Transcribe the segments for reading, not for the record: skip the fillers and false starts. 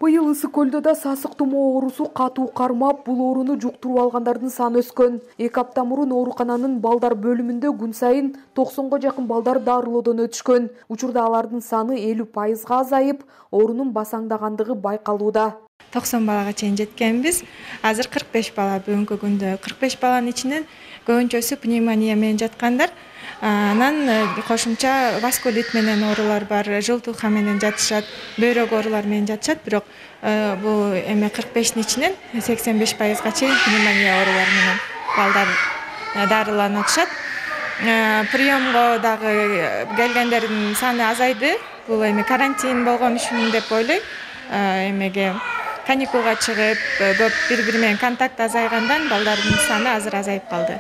Быйыл Ысык көлдө да сасык тумоо оорусу катуу кармап, бул ооруну жуктуруп алгандардын саны өскөн. 2 апта мурун оорукананын балдар бөлүмүндө күн сайын 90га жакын балдар дарылоодон өтүшкөн. Учурда алардын саны 50%га азайып, оорунун басаңдагандыгы байкалууда. 90 балага чейин жеткенбиз. Азыр 45 бала бүгүнкү күндө. 45 баланын ичинен көбүнчөсү пневмония менен жаткандар. Анан кошумча васкулит менен оорулар бар, жылтууха менен жатышат, бөйрөк оорулар менен жатышат, бирок бул 45-тин ичинен 85%га чейин пневмония оорулары менен балдар дарыланып атышат. Приемго дагы келгендердин саны азайды. Бул карантин болгон үчүн деп ойлойм. Каникулга чыгып, көп бири-бири менен контакт азайгандан балдардын саны азыр азайып калды.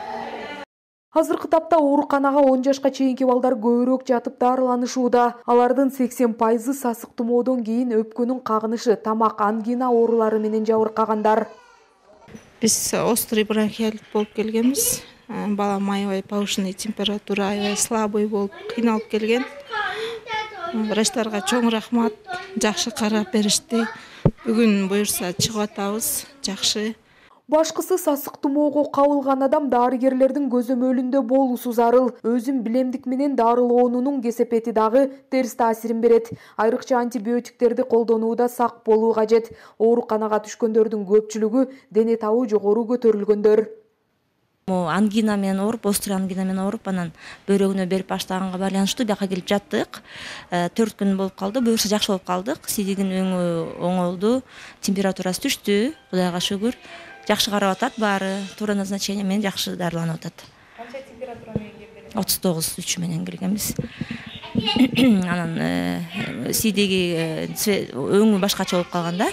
Азыркы тапта ооруканага 10 жашка чейинки балдар көбүрөөк жатып дарыланышууда. Алардын 80% сасык тумоодон кийин өпкөнүн кагынышы, тамак, ангина оорулары менен жабыркагандар. Биз острый бронхиалит болуп келгенбиз. Балам аябай повышенный температура, аябай слабый болуп кыйналып келген. Врачтарга чоң рахмат, жакшы карап беришти. Бүгүн буюрса чыгып атабыз, жакшы. Башкысы сасык тумоого кабылган адам дарыгерлердин көзөмөлүндө болуусу зарыл. Өзүн билемдик менен дарылоонунун кесепети дагы терс таасирин берет. Айрыкча антибиотиктерди колдонууда сак болуу кажет. Ооруканага түшкөндөрдүн көпчүлүгү дене табы жогору көтөрүлгөндөр. Ангина менен ооруп, острый ангина менен ооруп, анан бөйрөгүнө берип баштаганга байланыштуу бияка келип жаттык. 4 күн болуп калды. Буюрса жакшы болуп калдык. Сидигин өңү оңолду, температурасы түштү. Кудайга шүгүр. Жакшы карап атат баары, туура назначение менен жакшы дарыланып атат. Канча температура менен келдиңиз? 39,3 менен келгенбиз. Анан сидиги өңү башкача болуп калганда,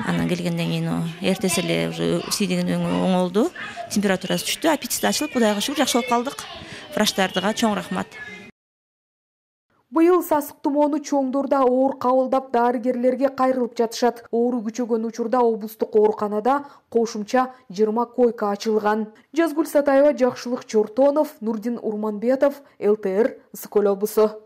анан келгенден кийин эртеси эле уже сидигин өңү оңолду, температурасы түштү, аппетит ачылып, Кудайга шүгүр жакшы болуп калдык. Врачтарга чоң рахмат. Быйыл сасык тумоону чоңдор да оор кабылдап дарыгерлерге кайрылып жатышат. Оору күчөгөн учурда облустук ооруканада кошумча 20 койка ачылган. Жазгүл Сатаева, Жакшылык Чортонов, Нурдин Урманбетов, ЛТР, Ысык көл облусу.